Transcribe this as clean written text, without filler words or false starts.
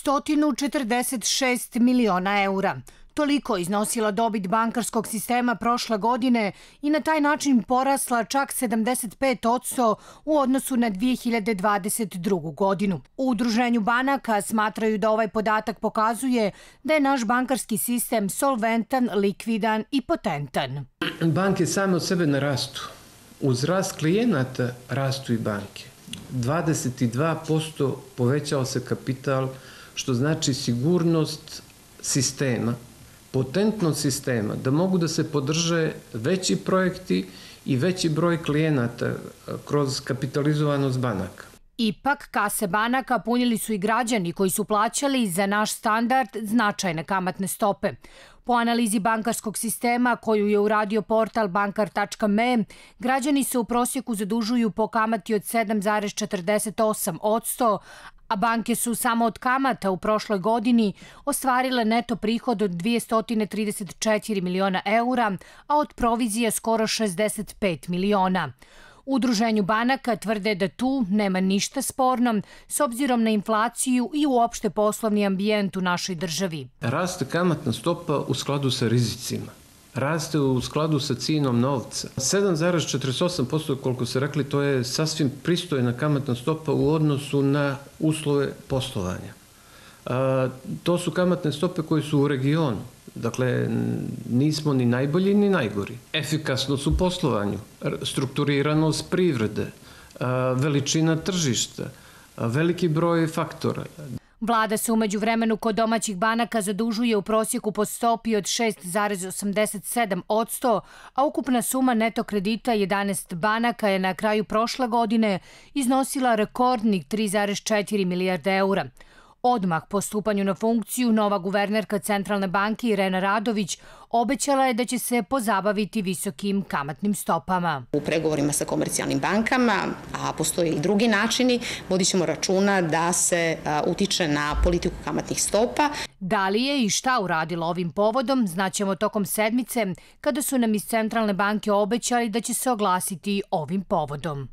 146 miliona eura. Toliko iznosila dobit bankarskog sistema prošle godine i na taj način porasla čak 75% u odnosu na 2022. godinu. U Udruženju banaka smatraju da ovaj podatak pokazuje da je naš bankarski sistem solventan, likvidan i potentan. Banke same od sebe ne rastu. Uz rast klijenata rastu i banke. 22% povećao se kapital, što znači sigurnost sistema, potentnost sistema, da mogu da se podrže veći projekti i veći broj klijenata kroz kapitalizovanost banaka. Ipak, kase banaka punili su i građani koji su plaćali za naš standard značajne kamatne stope. Po analizi bankarskog sistema koju je uradio portal bankar.me, građani se u prosjeku zadužuju po kamati od 7,48%, a banke su samo od kamata u prošloj godini ostvarile neto prihod od 234 miliona eura, a od provizije skoro 65 miliona. U Udruženju banaka tvrde da tu nema ništa sporno s obzirom na inflaciju i uopšte poslovni ambijent u našoj državi. Raste kamatna stopa u skladu sa rizicima. Raste u skladu sa cijenom novca. 7,48%, koliko ste rekli, to je sasvim pristojna kamatna stopa u odnosu na uslove poslovanja. To su kamatne stope koje su u regionu. Dakle, nismo ni najbolji ni najgori. Efikasnost u poslovanju, strukturiranost privrede, veličina tržišta, veliki broj faktora. Vlada se umeđu vremenu kod domaćih banaka zadužuje u prosjeku po stopi od 6,87%, a ukupna suma neto kredita 11 banaka je na kraju prošle godine iznosila rekordnih 3,4 milijarde eura. Odmah po stupanju na funkciju, nova guvernerka Centralne banke Irena Radović obećala je da će se pozabaviti visokim kamatnim stopama. U pregovorima sa komercijalnim bankama, a postoje i drugi načini, vodit ćemo računa da se utiče na politiku kamatnih stopa. Da li je i šta uradila ovim povodom, znaćemo tokom sedmice, kada su nam iz Centralne banke obećali da će se oglasiti ovim povodom.